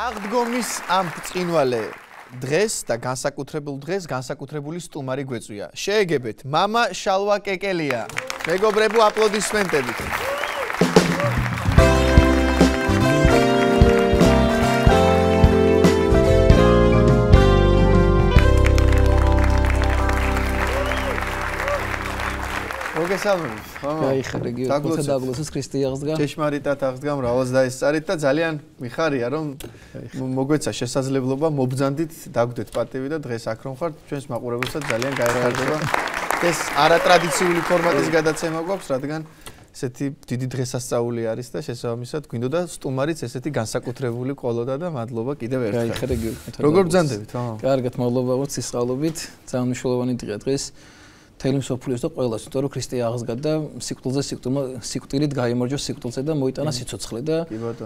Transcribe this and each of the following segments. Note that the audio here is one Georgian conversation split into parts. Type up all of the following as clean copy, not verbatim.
აღდგომის ამ ბრწყინვალე დღეს და განსაკუთრებულ დღეს განსაკუთრებული სტუმარი გვეწვია. შეეგებეთ მამა შალვა კეკელია. მეგობრებო, აპლოდისმენტებით. მოგესალმებით. დაგლოცეს ქრისტე აღსდგა. ჭეშმარიტად აღსდგა, მრავალს დაესწარით და ძალიან მიხარია, რომ მოგვეცა შესაძლებლობა მობრძანდით დაგვდეთ პატივი და დღეს აქ რომ ხართ, ჩვენს მაყურებელსაც ძალიან გაეხარდება. ეს არატრადიციული ფორმატის გადაცემა გვაქვს, რადგან ესეთი დიდი დღესასწაული არის და შესაბამისად გვინდოდა სტუმარიც ესეთი განსაკუთრებული ყოლოდა და მადლობა კიდევ ერთხელ. როგორ ბრძანდებით, მამა? კარგად, მადლობა სისხალობით, ძალიან მნიშვნელოვანი დღეა დღეს. თელი მსოფლიოს და ყველას, იმიტომ რომ ქრისტე აღსდგა და სიკვდილით გაიმარჯვა სიკვდილზე და მოიტანა სიცოცხლე და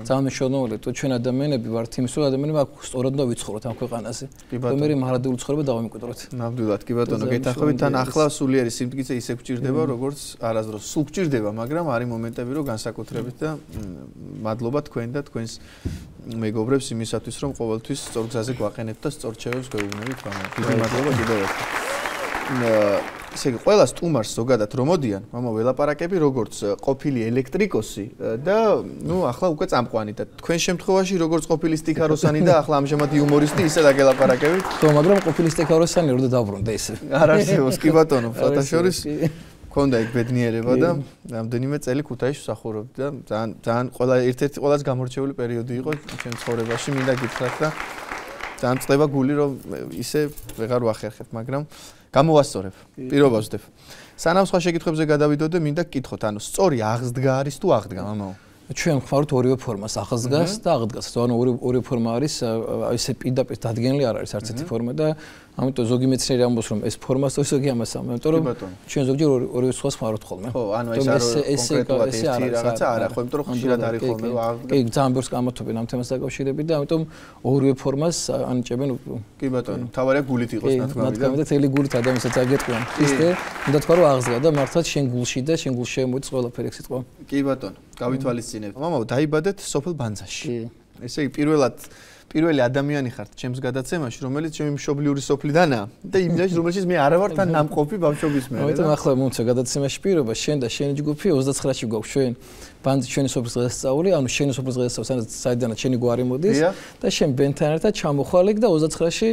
ძალიან მნიშვნელოვანია, თუ ჩვენ ადამიანები ვართ იმის, რომ ადამიანები აქ სწორად უნდა ვიცხოვროთ ამ ქვეყანაზე. მე მარადიული ცხოვრება დავამკვიდროთ. ნამდვილად, კი ბატონო, გეთახმებით, თან ახლა სულიერი სიმტკიცე ისე გვჭირდება, როგორც არასდროს სულ გვჭირდება, მაგრამ არის მომენტები, რომ განსაკუთრებით და მადლობა თქვენ და თქვენს მეგობრებს იმისათვის, რომ ყოველთვის სწორ გზაზე გვაყენებთ და სწორ რჩევებს გვეუბნებით, მამა. დიდი მადლობა კიდევ ერთხელ. ესე იგი, ყველა სტუმარს ზოგადად რომ მოდიან, მამა ველაპარაკები როგორც ყოფილი ელექტრიკოსი და ახლა უკვე წამყვანი და თქვენ შემთხვევაში როგორც ყოფილი სტიქაროსანი და ახლა ამჟამად იუმორისტი ისე დაგელაპარაკებით. ხო, მაგრამ ყოფილი სტიქაროსანი რო დაბრუნდა ესე. არ არსებობს, კი ბატონო, ფათაშორის ქონდა იქ ბედნიერება და რამდენიმე წელი ქუთაისში ვსახურობდი და ძალიან ერთ-ერთი ყველაზე გამორჩეული პერიოდი იყო ჩემ ცხოვრებაში, მინდა გითხრათ და ძალიან წდება გული რომ ისე ვეღარ ვახერხებ, მაგრამ გამოვასწორებ, პირობას ვდებ. სანამ სხვა შეკითხვებზე გადავიდოდე, მინდა გკითხოთ, ანუ სწორი აღსდგა არის თუ აღდგა, მამაო? ჩვენ ვხმართ ორივე ფორმას, აღსდგას და აღდგას. ანუ ორივე ფორმა არის, ესე პირდაპირ დადგენილი არ არის არც ერთი ფორმა და ამიტომ ზოგი მეცნიერი ამბობს, რომ ეს ფორმას თუ ზოგი ამას ამბობს, იმიტომ რომ ჩვენ ზოგჯერ ორივე სხვას ვხმარობთ ხოლმე. ხო, ანუ ეს კონკრეტულად რაღაცა არა, ხო, იმიტომ რომ ხშირად არის ხოლმე რომ აღდგა. კი, ძალიან ბევრს გამართობენ ამ თემას დაკავშირებით და ამიტომ ორივე ფორმას ანიჭებენ. კი ბატონო, თავარია გულით იყოს ნათქვამი და თელი გულით ადამიანსაც აგეტყვიან. ისე უნდა თქვა რომ აღსდგა და მართლაც შენ გულში და შენ გულში შემოიწ ყველაფერი ეს სიტყვა. კი ბატონო, გავითვალისწინებთ. მამაო, დაიბადეთ სოფელ ბანძაში. ესე იგი, პირველი ადამიანი ხართ ჩემს გადაცემაში, რომელიც ჩემი მშობლიური სოფლიდანაა და იმდენში, რომელშიც მე არ ვარ თან ნამყოფი ბავშვობის მერე. ამიტომ ახლა მომცა გადაცემაში პირობა, შენ და შენი ჯგუფი 29-ში გვაქვს ჩვენ ბანძი ჩვენი სოფლის დღესასწაული, ანუ შენი სოფლის დღესასწაული, საიდანაც შენი გვარი მოდის და შენ ბენთან ერთად ჩამოხვალ იქ და 29-ში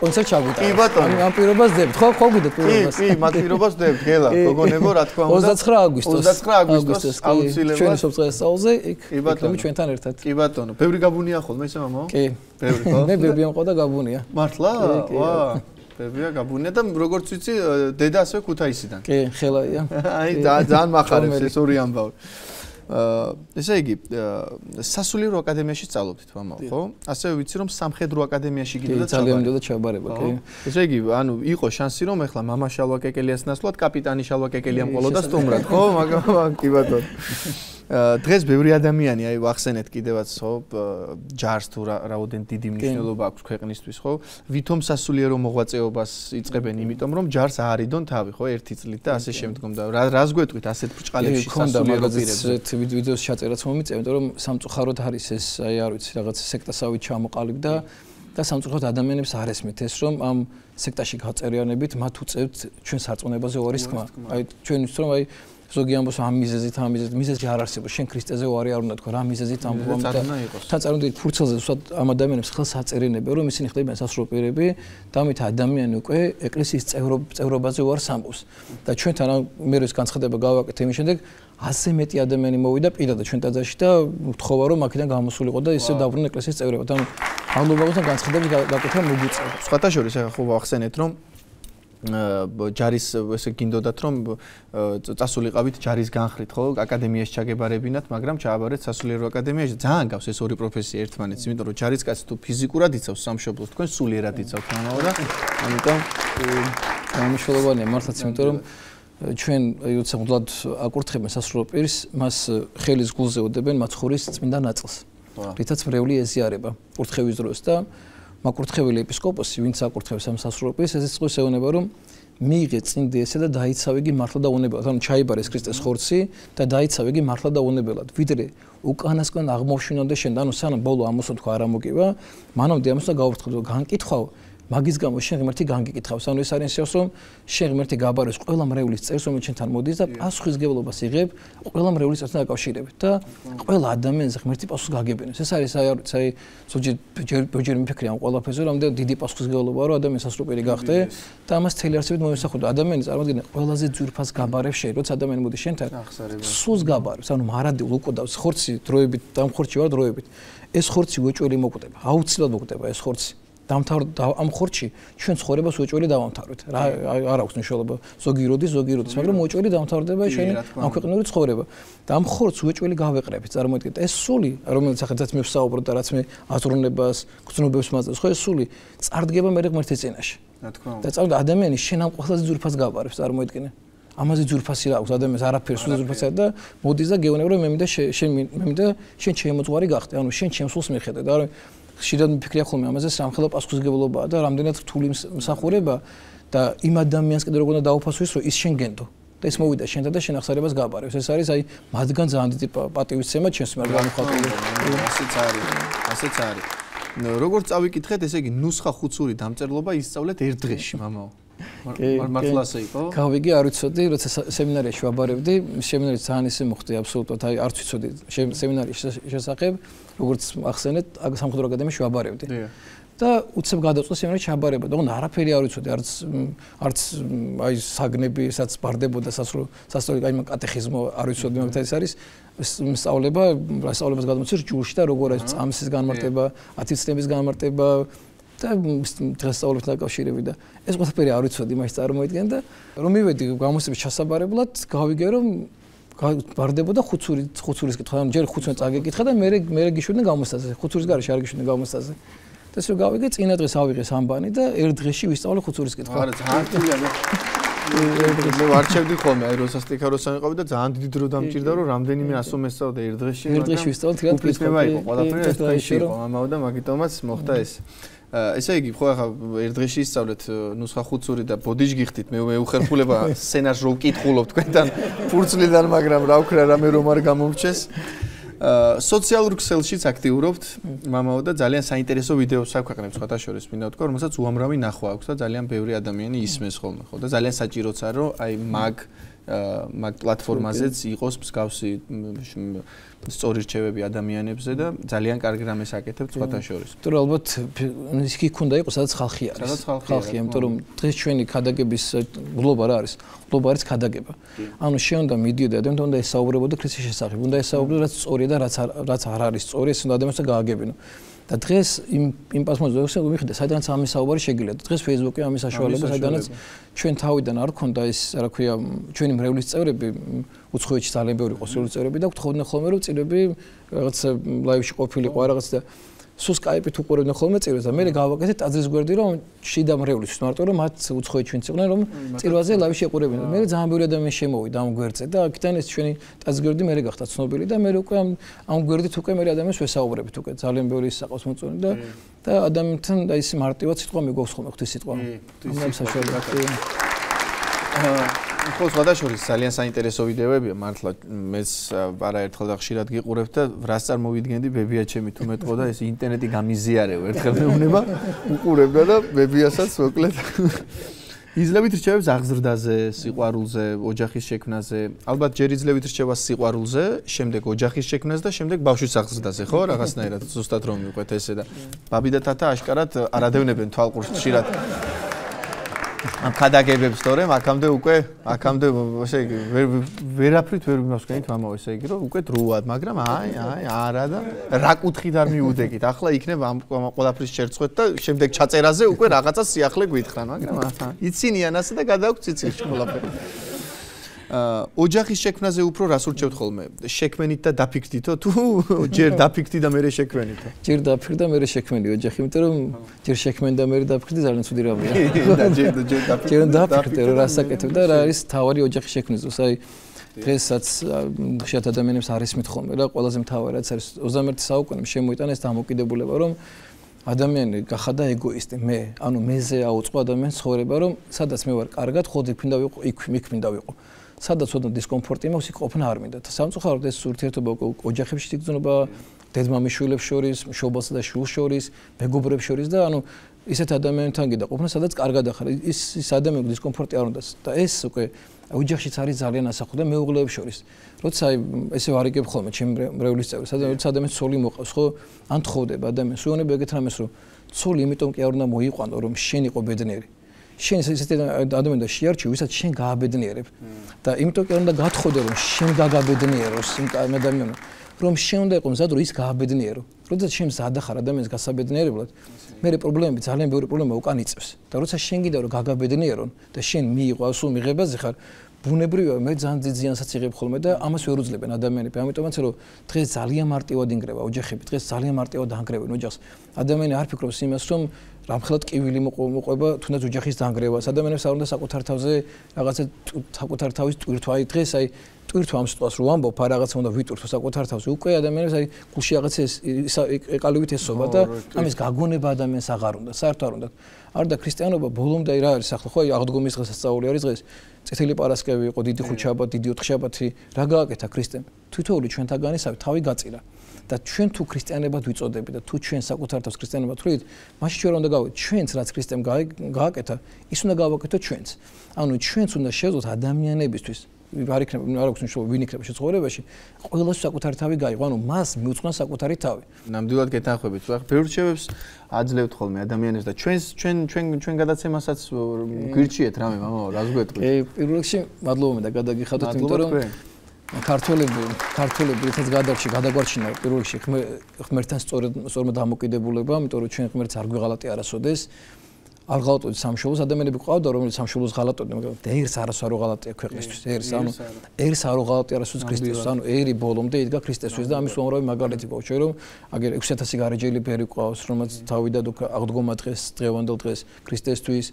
კონცერტ ჩაგვიტანე. კი ბატონო, ამ პირობას დებთ, ხო გვიდეთ პირობას. კი, მათ პირობას დებთ, გელა, გოგონებო, რა თქმა უნდა. 29 აგვისტოს აუცილებლად ჩვენი სოფლის დღესასწაულზე იქ იქნები ჩვენთან ერთად. კი ბატონო, ბევრი გაბუნია ხოლმე ისე მამაო? კი. ბევრი ხო? მე ბევრი ამყვა და გაბუნია. მართლა? ვა. ბევრია გაბუნია და როგორც ვიცი, დედა ასევე ქუთაისიდან. კი, ხელაია. აი, ძალიან მახარებს ეს ორი ამბავი. ესე იგი, სასულიერო აკადემიაში სწავლობდით, მამაო, ხო? ასევე ვიცი, რომ სამხედრო აკადემიაში გინდოდა ძალიან მინდოდა ჩაბარება, კი. ესე იგი, ანუ იყო შანსი, რომ ეხლა მამა შალვა კეკელიას ნაცვლად კაპიტანი შალვა კეკელიამ ყოლოდა სტუმრად, ხო? მაგრამ კი ბატონო. დღეს ბევრი ადამიანი, აი ვახსენეთ კიდევაც, ხო, ჯარს თუ რაოდენ დიდი მნიშვნელობა აქვს ქვეყნისთვის, ხო? ვითომ სასულიერო მოღვაწეობას იწყებენ, იმიტომ რომ ჯარს აარიდონ თავი, ხო, ერთი წლით და ასე შემდგომ და რას გვეტყვით ასეთ ბრჭყალებში სასულიერო პირებზე? ვიდეოს ჩაწერაც მომიწევ, იმიტომ რომ სამწუხაროდ არის ეს, აი არ ვიცი, რაღაც სექტასავით ჩამოყალიბდა და სამწუხაროდ ადამიანებს არ ესმით ეს, რომ ამ სექტაში გაწერიანებით მათ უწევთ ჩვენ სარწმუნოებაზე უარის თქმა. აი ჩვენ ვიცით რომ აი ზოგი ამბობს ამ მიზეზი არ არსებობს, შენ ქრისტეზე უარი არ უნდა თქვა, რა მიზეზით ამბობ და თან წარუმდი ფურცელზე უბრალოდ ამ ადამიანებს ხელს აწერინებენ, რომ ისინი ხდებიან სასრულო პირები და ამით ადამიანი უკვე ეკლესიის წევრობაზე უარს ამბობს. და ჩვენთან მე ეს განცხადება გავაკეთე იმის შემდეგ 100 მეტი ადამიანი მოვიდა პირადად ჩვენ ტაძარში და ვთხოვა რომ აქედან გამოსულიყო და ისე დაბრუნდა ეკლესიის წევრებად. ანუ მადლობასთან განცხადების გაკეთება მოგვიწევს. სხვათა შორის ახლა ხო ვახსენეთ რომ ჯარის ესე გინდოდათ რომ წასულიყავით ჯარის განხრით, ხო, აკადემიაში ჩაგებარებინათ, მაგრამ ჩააბარეთ სასულიერო აკადემიაში. ძალიან გავს ეს ორი პროფესია ერთმანეთს, იმიტომ რომ ჯარისკაცი თუ ფიზიკურად იცავს სამშობლოს, თქვენ სულიერად იცავთ მამაო და ამიტომ მნიშვნელოვანია მართლაც, იმიტომ რომ ჩვენ უცებუდად აკურთხებენ სასრულო პირს, მას ხელის გულზე უდებენ მაცხოვრის წმინდა ნაწილს. რითაც მრევლი ეზიარება კურთხევის დროს და მაკურთხეველი ეპისკოპოსი, ვინც აკურთხებს ამ სასრულო პირს, ესეც წყვის ეუბნება, რომ მიიღე წინ დიესა და დაიცავ იგი მართლა და უნებელად. ანუ ჩაიბარეს ქრისტეს ხორცი და დაიცავ იგი მართლა და უნებელად. ვიდრე უკანასკენ აღმოჩინონდა შენ, ანუ სანამ ბოლო ამოსო თქვა არ ამოგივა, მანამდე ამოსა გავვრთხილო, განკითხავ მაგის გამო შენ ღმერთი განგიკითხავს. ანუ ეს არის ისე რომ შენ ღმერთი გაბაროს ყველა მრევლის წერს, რომელიც შენთან მოდის და პასუხისგებლობას იღებ ყველა მრევლის წერთან დაკავშირებით და ყველა ადამიანს ღმერთი პასუხს გაგებინებს. ეს არის აი ზოგჯერ მიფიქრე ამ ყველაფერზე, რამდენი დიდი პასუხისგებლობა რომ ადამიანს ასროპერი გახდე და ამას თელი არსებით მოესახო და ადამიანი წარმოადგენს ყველაზე ძვირფას გაბარებს შენ, როცა ადამიანი მოდის შენთან სულს გაბარებს. ანუ მარადილ უკვდავს ხორცი დროებით, ამ ხორცი ვარ დროებით. ეს ხორცი უეჭველი მოკვდება, აუცილებლად მოკვდება ეს ხორცი. დამთავრდა ამ ხორცში ჩვენ ცხოვრებას უეჭველი დავამთავრეთ. რა არ აქვს მნიშვნელობა ზოგი როდის, მაგრამ უეჭველი დამთავრდება შენი ამ ქვეყნიური ცხოვრება. და ამ ხორცს უეჭველი გავეყრებით. წარმოიდგინეთ, ეს სული, რომელიც ახლა მე ვსაუბრობ და რაც მე აზროვნებას, გრძნობებს მაძლევს, ხო ეს სული წარდგება მე ღმერთის წინაშე. რა თქმა უნდა. და წავიდა ადამიანი შენ ამ ყველაზე ძვირფას გაბარებს, წარმოიდგინე. ამაზე ძვირფასი რა აქვს ადამიანს არაფერს სულ ძვირფასია და მოდის და გეუბნება რომ მე მინდა შენ შემოწვარი გახდე. ანუ შენ ჩემს სულს მიხედე და ხშირად მიფიქრია ხოლმე ამაზე სამხელო პასუხისგებლობაა და რამდენად რთული მსახურება და იმ ადამიანს კიდე როგორ უნდა დაუფასოს რომ ის შენ გენდო და ეს მოვიდა შენთან და შენ ახსარებას გაბარებს. ეს არის აი მათგან ძალიან დიდი პატივისცემა ჩვენს მიერ გამოხატული. ასეც არის. როგორც წავიკითხეთ, ესე იგი ნუსხა ხუცური დამწერლობა ისწავლეთ ერთ დღეში, მამაო. მართლა ასე იყო? გავიგე, არ ვიცოდი, როცა სემინარიაში ვაბარებდი, სემინარიც ძალიან ისე მოხდი აბსოლუტურად, აი არც ვიცოდი სემინარის შესახებ, როგორც ახსენეთ, სამხედრო აკადემიაში ვაბარებდი. და უცებ გადაწყვეტ სემინარში აბარება და არაფერი არ ვიცოდი, არც აი საგნები, სადაც ბარდებოდა სასწავლო აი კატეხიზმო არ ვიცოდი, მაგრამ ეს არის სწავლებას გადმოცემ ჯულში და როგორ არის წამსის განმარტება, ათწლების განმარტება და დღესასწაულებთან დაკავშირებით და ეს ყველაფერი არ ვიცოდი იმას წარმოიდგენ და რომ მივედი გამოსების ჩასაბარებლად გავიგე რომ ბარდებოდა ხუცურის კითხვა ანუ ჯერ ხუცურს წაგეკითხა და მე გიშვიდნენ გამოსტაზე ხუცურის გარეშე არ გიშვიდნენ გამოსტაზე და ეს რომ გავიგე წინა დღეს ავიღე სამბანი და ერთ დღეში ვისწავლე ხუცურის კითხვა არა ძალიან თვლია მე ვარჩევდი ხოლმე აი როცა სტიქაროსან ვიყავი და ძალიან დიდი დრო დამჭირდა რომ რამდენიმე ასო მესწავლე ერთ დღეში ვისწავლე თქო კითხვა იყო ყველაფერი ერთ დღეში იყო ამაო და მაგიტომაც მოხდა ეს ესე იგი ხო ახლა ერთ დღეში ისწავლეთ ნუსხა ხუცური და ბოდიში გიხდით მე უხერხულება სცენარს რო ვკითხულობ თქვენთან ფურცლიდან მაგრამ რა ვქრა რამე რომ არ გამომრჩეს სოციალურ ქსელშიც აქტიურობთ მამაო და ძალიან საინტერესო ვიდეოს აქვეყნებთ სხვათა შორის მინდა ვთქვა რომელსაც უამრავი ნახვა აქვს და ძალიან ბევრი ადამიანი ისმენს ხოლმე ხო და ძალიან საჭიროა რომ აი მაგ პლატფორმაზეც იყოს მსგავსი სწორი რჩევები ადამიანებზე და ძალიან კარგი რამეს აკეთებთ სხვათა შორის. იმიტომ რომ ალბათ ის კი ქონდა იყოს სადაც ხალხი არის. ხალხია, იმიტომ რომ დღეს ჩვენი ქადაგების გლობა რა არის? გლობა არის ქადაგება. ანუ შენ უნდა მიდიოდე ადამიანთან უნდა ესაუბრებოდე ქრისტეს შესახებ, უნდა ესაუბრებოდე რაც სწორია და რაც არ არის სწორი, ეს უნდა ადამიანს გააგებინო. და დღეს იმ პასმოზე ვიხდე, საიდანაც ამის საუბარი შეგიძლია. დღეს Facebook-ი ამის საშუალება, საიდანაც ჩვენ თავიდან არ ქონდა ეს, რა ქვია, ჩვენი მრევლის წევრები, უცხოეთში ძალიან ბევრი ყოსრული წევრები და გთხოვდნენ ხოლმე რომ წირები რაღაც ლაივში ყოფილიყო რაღაც და სულ Skype-ით უყურებდნენ ხოლმე წირვას და მე გავაკეთე ტაძრის გვერდი რომ შიდა მრევლის მარტო რომ მათ უცხოეთში ვინც იყვნენ რომ წირვაზე ლაივში ეყურებინა. მე ძალიან ბევრი ადამიანი შემოვიდა ამ გვერდზე და აქედან ეს ჩვენი ტაძრის გვერდი მე გახდა ცნობილი და მე უკვე ამ გვერდით უკვე მე ადამიანს ვესაუბრებით უკვე ძალიან ბევრი საყოს მოწონი და ადამიანთან და ის მარტივად სიტყვა მეგობს ხოლმე ღვთის სიტყვა. ამ საშუალებას ხო სხვადასხვა ძალიან საინტერესო ვიდეოებია მართლა მეც არაერთხელ და ხშირად გიყურებ და რას წარმოვიდგენდი ბებია ჩემი თუ მეტყო და ეს ინტერნეტი გამიზიარეო ერთხელ მეუბნება უყურებდა და ბებიასაც მოკლედ იძლევით რჩევებს აღზრდაზე, სიყვარულზე, ოჯახის შექმნაზე. ალბათ ჯერ იძლევით რჩევას სიყვარულზე, შემდეგ ოჯახის შექმნაზე და შემდეგ ბავშვის აღზრდაზე, ხო? რაღაცნაირად ზუსტად რომ მიყვეთ ესე და ბაბი და თათა აშკარად არადევნებენ თვალყურს ხშირად. ამ ქადაგებებს თორემ აქამდე ესე იგი ვერაფრით ვერ მიმასვენით მამაო ესე იგი რომ უკვე დროად მაგრამ არა და რა კუთხით არ მიუდეკით ახლა იქნება ამ ყველაფრის შერწყვეთ და შემდეგ ჩაწერაზე უკვე რაღაცა სიახლე გვითხრან მაგრამ იცინიან ასე და გადააქვს ციცილში ყველაფერი ოჯახის შექმნაზე უფრო რას ურჩევთ ხოლმე შექმენით და დაფიქრდითო თუ ჯერ დაფიქრდი და მერე შექმენითო ჯერ დაფიქრდი და მერე შექმენი ოჯახი იმიტომ რომ ჯერ შექმენი და მერე დაფიქრდი ძალიან ცუდი რამეა და ჯერ დაფიქრდი რომ რასაკეთებ და რა არის თავარი ოჯახის შექმნისთვის აი დღესაც ხშირად ადამიანებს არ ისმით ხოლმე რა ყველაზე მთავარი რაც არის 21 საუკუნეში შემოიტანა ეს დამოკიდებულება რომ ადამიანი გახადა ეგოისტი, მე, ანუ მეზე აუწყო ადამიანს ცხოვრება, რომ სადაც მე ვარ კარგად, ხოდი მინდა ვიყო, იქ მინდა ვიყო. სადაც ოდნავ დისკომფორტი მაქვს, იქ ყოფნა არ მინდა. სამწუხაროდ ეს ურთიერთობა ოჯახებში იგრძნობა, დედმამიშვილებს შორის, მშობელსა და შვილს შორის, მეგობრებს შორის და ანუ ისეთ ადამიანთან გინდა ყოფნა, სადაც კარგად ახარ. ის ადამიანის დისკომფორტი არ უნდა და ეს უკვე ოჯახშიც არის ძალიან ასახო და მეუღლეებს შორის. როცა ესე ვარიგებ ხოლმე ჩემი მრევლის წევრი, სადაც ადამიანს ცოლი მოყავს, ხო? ან თხოვდება ადამიანს, უიონებ ეგეთ რამეს, რომ ცოლი იმიტომ კი არ უნდა მოიყვანო, რომ შენ იყო ბედნიერი. შენ ესეთი ადამიანი და შეარჩი, ვისაც შენ გააბედნიერებ. და იმიტომ კი არ უნდა გათხოვდე, რომ შენ გაგაბედნიეროს იმ ადამიანს, რომ შენ უნდა იყო მზად, რომ ის გააბედნიერო. როდესაც შენ მზად ახარ ადამიანს გასაბედნიერებლად, მე პრობლემები, ძალიან ბევრი პრობლემა უკან იწევს. და როცა შენ გინდა რომ გაგაბედნიერონ და შენ მიიღო სულ მიღებაზე ხარ, ბუნებრივია მე ძალიან დიდ ზიანსაც იღებ ხოლმე და ამას ვერ უძლებენ ადამიანები. ამიტომაც რომ დღეს ძალიან მარტივად ინგრევა ოჯახები, დღეს ძალიან მარტივად დაანგრევენ ოჯახს. ადამიანი არ ფიქრობს იმას, რომ რამხელად კივილი მოყვება თუნდაც ოჯახის დაანგრევას. ადამიანებს არ უნდა საკუთარ თავზე რაღაცა საკუთარ თავის ტვირთვა. აი დღეს აი ტვირთვა ამ სიტყვას რო ვამბობ, არ რაღაცა უნდა ვიტვირთო საკუთარ თავზე. უკვე ადამიანებს აი გულში რაღაცა ეყალივით ესობა და ამის გაგონება ადამიანს აღარ უნდა, საერთოდ არ უნდა. არ და ქრისტიანობა ბოლომდე რა არის ახლა ხო აი აღდგომის დღესასწაული არის დღეს. წითელი პარასკევი იყო, დიდი ხუთშაბათი, დიდი ოთხშაბათი, რა გააკეთა ქრისტემ? თვითოული ჩვენთაგანისავე თავი გაწირა. და ჩვენ თუ ქრისტიანებად ვიწოდები და თუ ჩვენ საკუთარ თავს ქრისტიანებად ვთვლით, მაშინ ჩვენ უნდა გავაკეთოთ ჩვენც რაც ქრისტემ გააკეთა, ის უნდა გავაკეთოთ ჩვენც. ანუ ჩვენც უნდა შევძლოთ ადამიანებისთვის არ იქნება არ აქვს მნიშვნელობა ვინ იქნება ცხოვრებაში ყველას საკუთარი თავი გაიღო ანუ მას მიუძღვნა საკუთარი თავი ნამდვილად გეთანხმებით ხო ახლა ბევრ რჩევებს აძლევთ ხოლმე ადამიანებს და ჩვენ გადაცემასაც გვირჩიეთ რამე მამაო რას გვეტყვით პირველ რიგში მადლობა მე და გადაგიხადოთ იმიტომ რომ ქართველები რითაც გადაგვარჩინა პირველ რიგში ღმერთთან სწორად დამოკიდებულება იმიტომ რომ ჩვენ ღმერთს არ გვიღალატი არასოდეს არ ღალატობთ სამშობლოს ადამიანები ყავდა რომელიც სამშობლოს ღალატობდნენ მაგრამ ერს არასო არ ღალატია ქვეყნისთვის ერს არ ღალატი არასოდეს ქრისტესთვის ანუ ერი ბოლომდე იდგა ქრისტესთვის და ამის უამრავი მაგალითი გვაქვს რომ აგერ 6000 გარეჯელი ბერი ყავს რომელიც თავიდან აღდგომა დღეს დღევანდელ დღეს ქრისტესთვის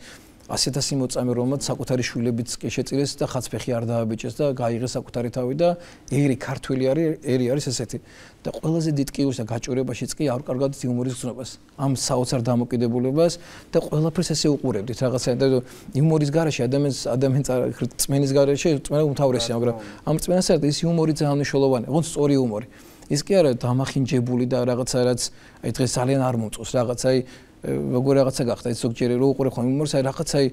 100,000 მოწამე რომელმაც საკუთარი შვილებიც კი შეწირეს და ხაცფეხი არ დააბეჭეს და გაიღეს საკუთარი თავი და ერი ქართველი არის ესეთი და ყველაზე დიდ კიუს და გაჭირებაშიც კი არ კარგად იუმორის გზნობას ამ საოცარ დამოკიდებულებას და ყველაფერს ესე უყურებდით რაღაცა და იუმორის garaში ადამიანს წმენის garaში წმენა უმთავრესია მაგრამ ამ წმენას ერთ ის იუმორი ძალიან მნიშვნელოვანია ოღონდ სწორი იუმორი ის კი არა დამახინჯებული და რაღაცა რაც აი დღეს ძალიან არ მომწონს რაღაცა აი როგორ რაღაცა გახდა ის ზოგჯერ რო უყურე ხოლმე იუმორს აი რაღაცა აი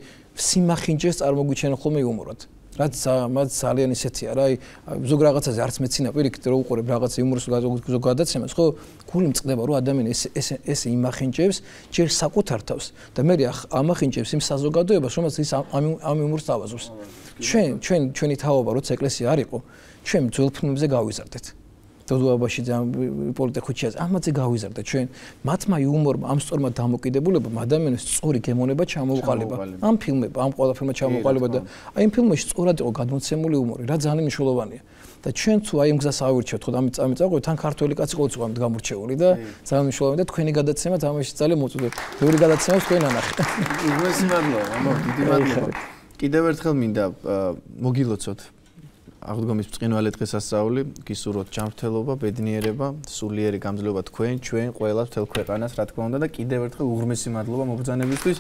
სიმახინჯეს წარმოგვიჩენა ხოლმე იუმორად რაც მას ძალიან ისეთია რა აი ზოგ რაღაცაზე არც მეცინა პირიქით რო უყურებ რაღაცა იუმორს ზოგ გადაცემას ხო გული მწყდება რომ ადამიანი ეს იმახინჯებს ჯერ საკუთარ თავს და მე ამახინჯებს იმ საზოგადოებას რომელსაც ის ამ იუმორს თავაზობს ჩვენი თაობა როცა ეკლესია არ იყო ჩვენ ძველ ფილმებზე გავიზარდეთ დოდუაბაში პოლიტიკუჩიას ამაზე გავიზარდა ჩვენ მათმა იუმორმა ამ სწორმა დამოკიდებულებამ ადამიანის სწორი გემონება ჩამოუყალიბა ამ ფილმებმა ამ ყველაფერმა ჩამოუყალიბა და აი იმ ფილმებში სწორად იყო გადმოცემული იუმორი რა ძალიან მნიშვნელოვანია და ჩვენ თუ აი იმ გზას ავირჩევთ ხო ამით წამიწავყოთ თან ქართველი კაცი ყოველწლიურად გამორჩეული და ძალიან მნიშვნელოვანია და თქვენი გადაცემა თამაში ძალიან მოწოდეთ ბევრი გადაცემას თქვენ ანახეთ უგმესი მადლობა მამա დიდი მადლობა კიდევ ერთხელ მინდა მოგილოცოთ აღდგომის ბრწყინვალე დღესასწაული გისურვოთ ჯანმრთელობა, ბედნიერება, სულიერი გამძლეობა ჩვენ ყველას მთელ ქვეყანას რა თქმა უნდა და კიდევ ერთხელ უღრმესი მადლობა მობრძანებისთვის.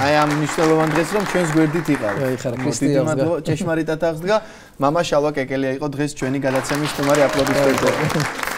აი ამ მნიშვნელოვან დღეს რომ ჩვენს გვერდით იყავით. დიდი მადლობა ჭეშმარიტად აღსდგა. მამა შალვა კეკელია იყო დღეს ჩვენი გადაცემის სტუმარი აპლოდისმენტები.